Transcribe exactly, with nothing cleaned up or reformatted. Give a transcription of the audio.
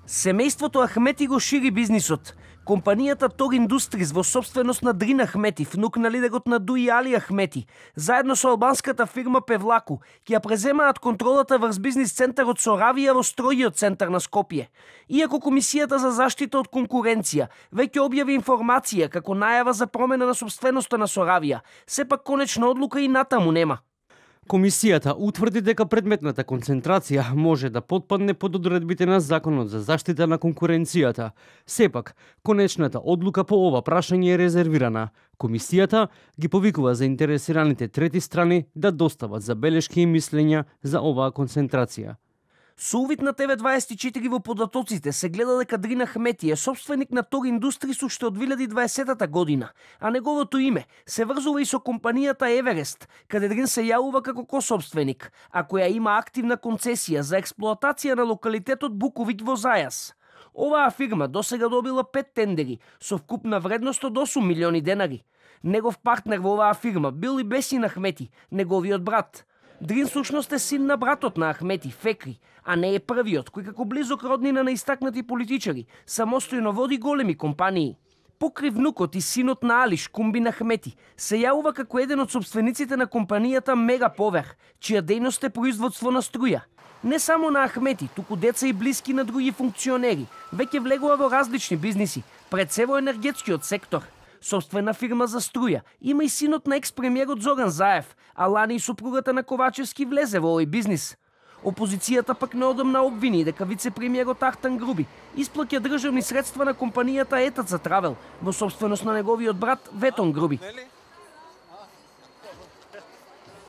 Семејството Ахмети го шири бизнисот. Компанијата Тор Индустриз во собственост на Дрин Ахмети, внук на лидерот на Дуи Али Ахмети, заедно со албанската фирма Певлаку, ќе ја преземаат контролата врз бизнис центарот Соравија во стројиот центар на Скопје. Иако Комисијата за заштита од конкуренција веќе објави информација како најава за промена на собственоста на Соравија, сепак конечна одлука и натаму нема. Комисијата утврди дека предметната концентрација може да потпадне под одредбите на Законот за заштита на конкуренцијата. Сепак, конечната одлука по ова прашање е резервирана. Комисијата ги повикува заинтересираните трети страни да достават забелешки и мислења за оваа концентрација. Со увид на Т В дваесет и четири во податоците се гледа дека Дрин Ахмети е собственик на Тор Индустрис уште од две илјади и дваесета година, а неговото име се врзува и со компанијата Еверест, каде Дрин се јавува како кособственик, а која има активна концесија за експлоатација на локалитетот Буковиќ во Зајас. Оваа фирма досега добила пет тендери со вкупна вредност од осум милиони денари. Негов партнер во оваа фирма бил и Бесин Ахмети, неговиот брат. Дрин сушност е син на братот на Ахмети, Фекри, а не е првиот кој како близок роднина на истакнати политичари самостојно води големи компании. Покри внукот и синот на Алиш, Кумбин Ахмети, се јавува како еден од собствениците на компанијата Мегаповер, чија дејност е производство на струја. Не само на Ахмети, туку деца и блиски на други функционери, веќе влегува во различни бизниси, пред се во енергетскиот сектор. Собствена фирма за струја има и синот на екс-премиерот Зоран Заев, а лани и супругата на Ковачевски влезе во овој бизнис. Опозицијата пак неодамна обвини дека вице-премиерот Ахтан Груби исплаќа државни средства на компанијата Етаца Травел во собственост на неговиот брат Ветон Груби.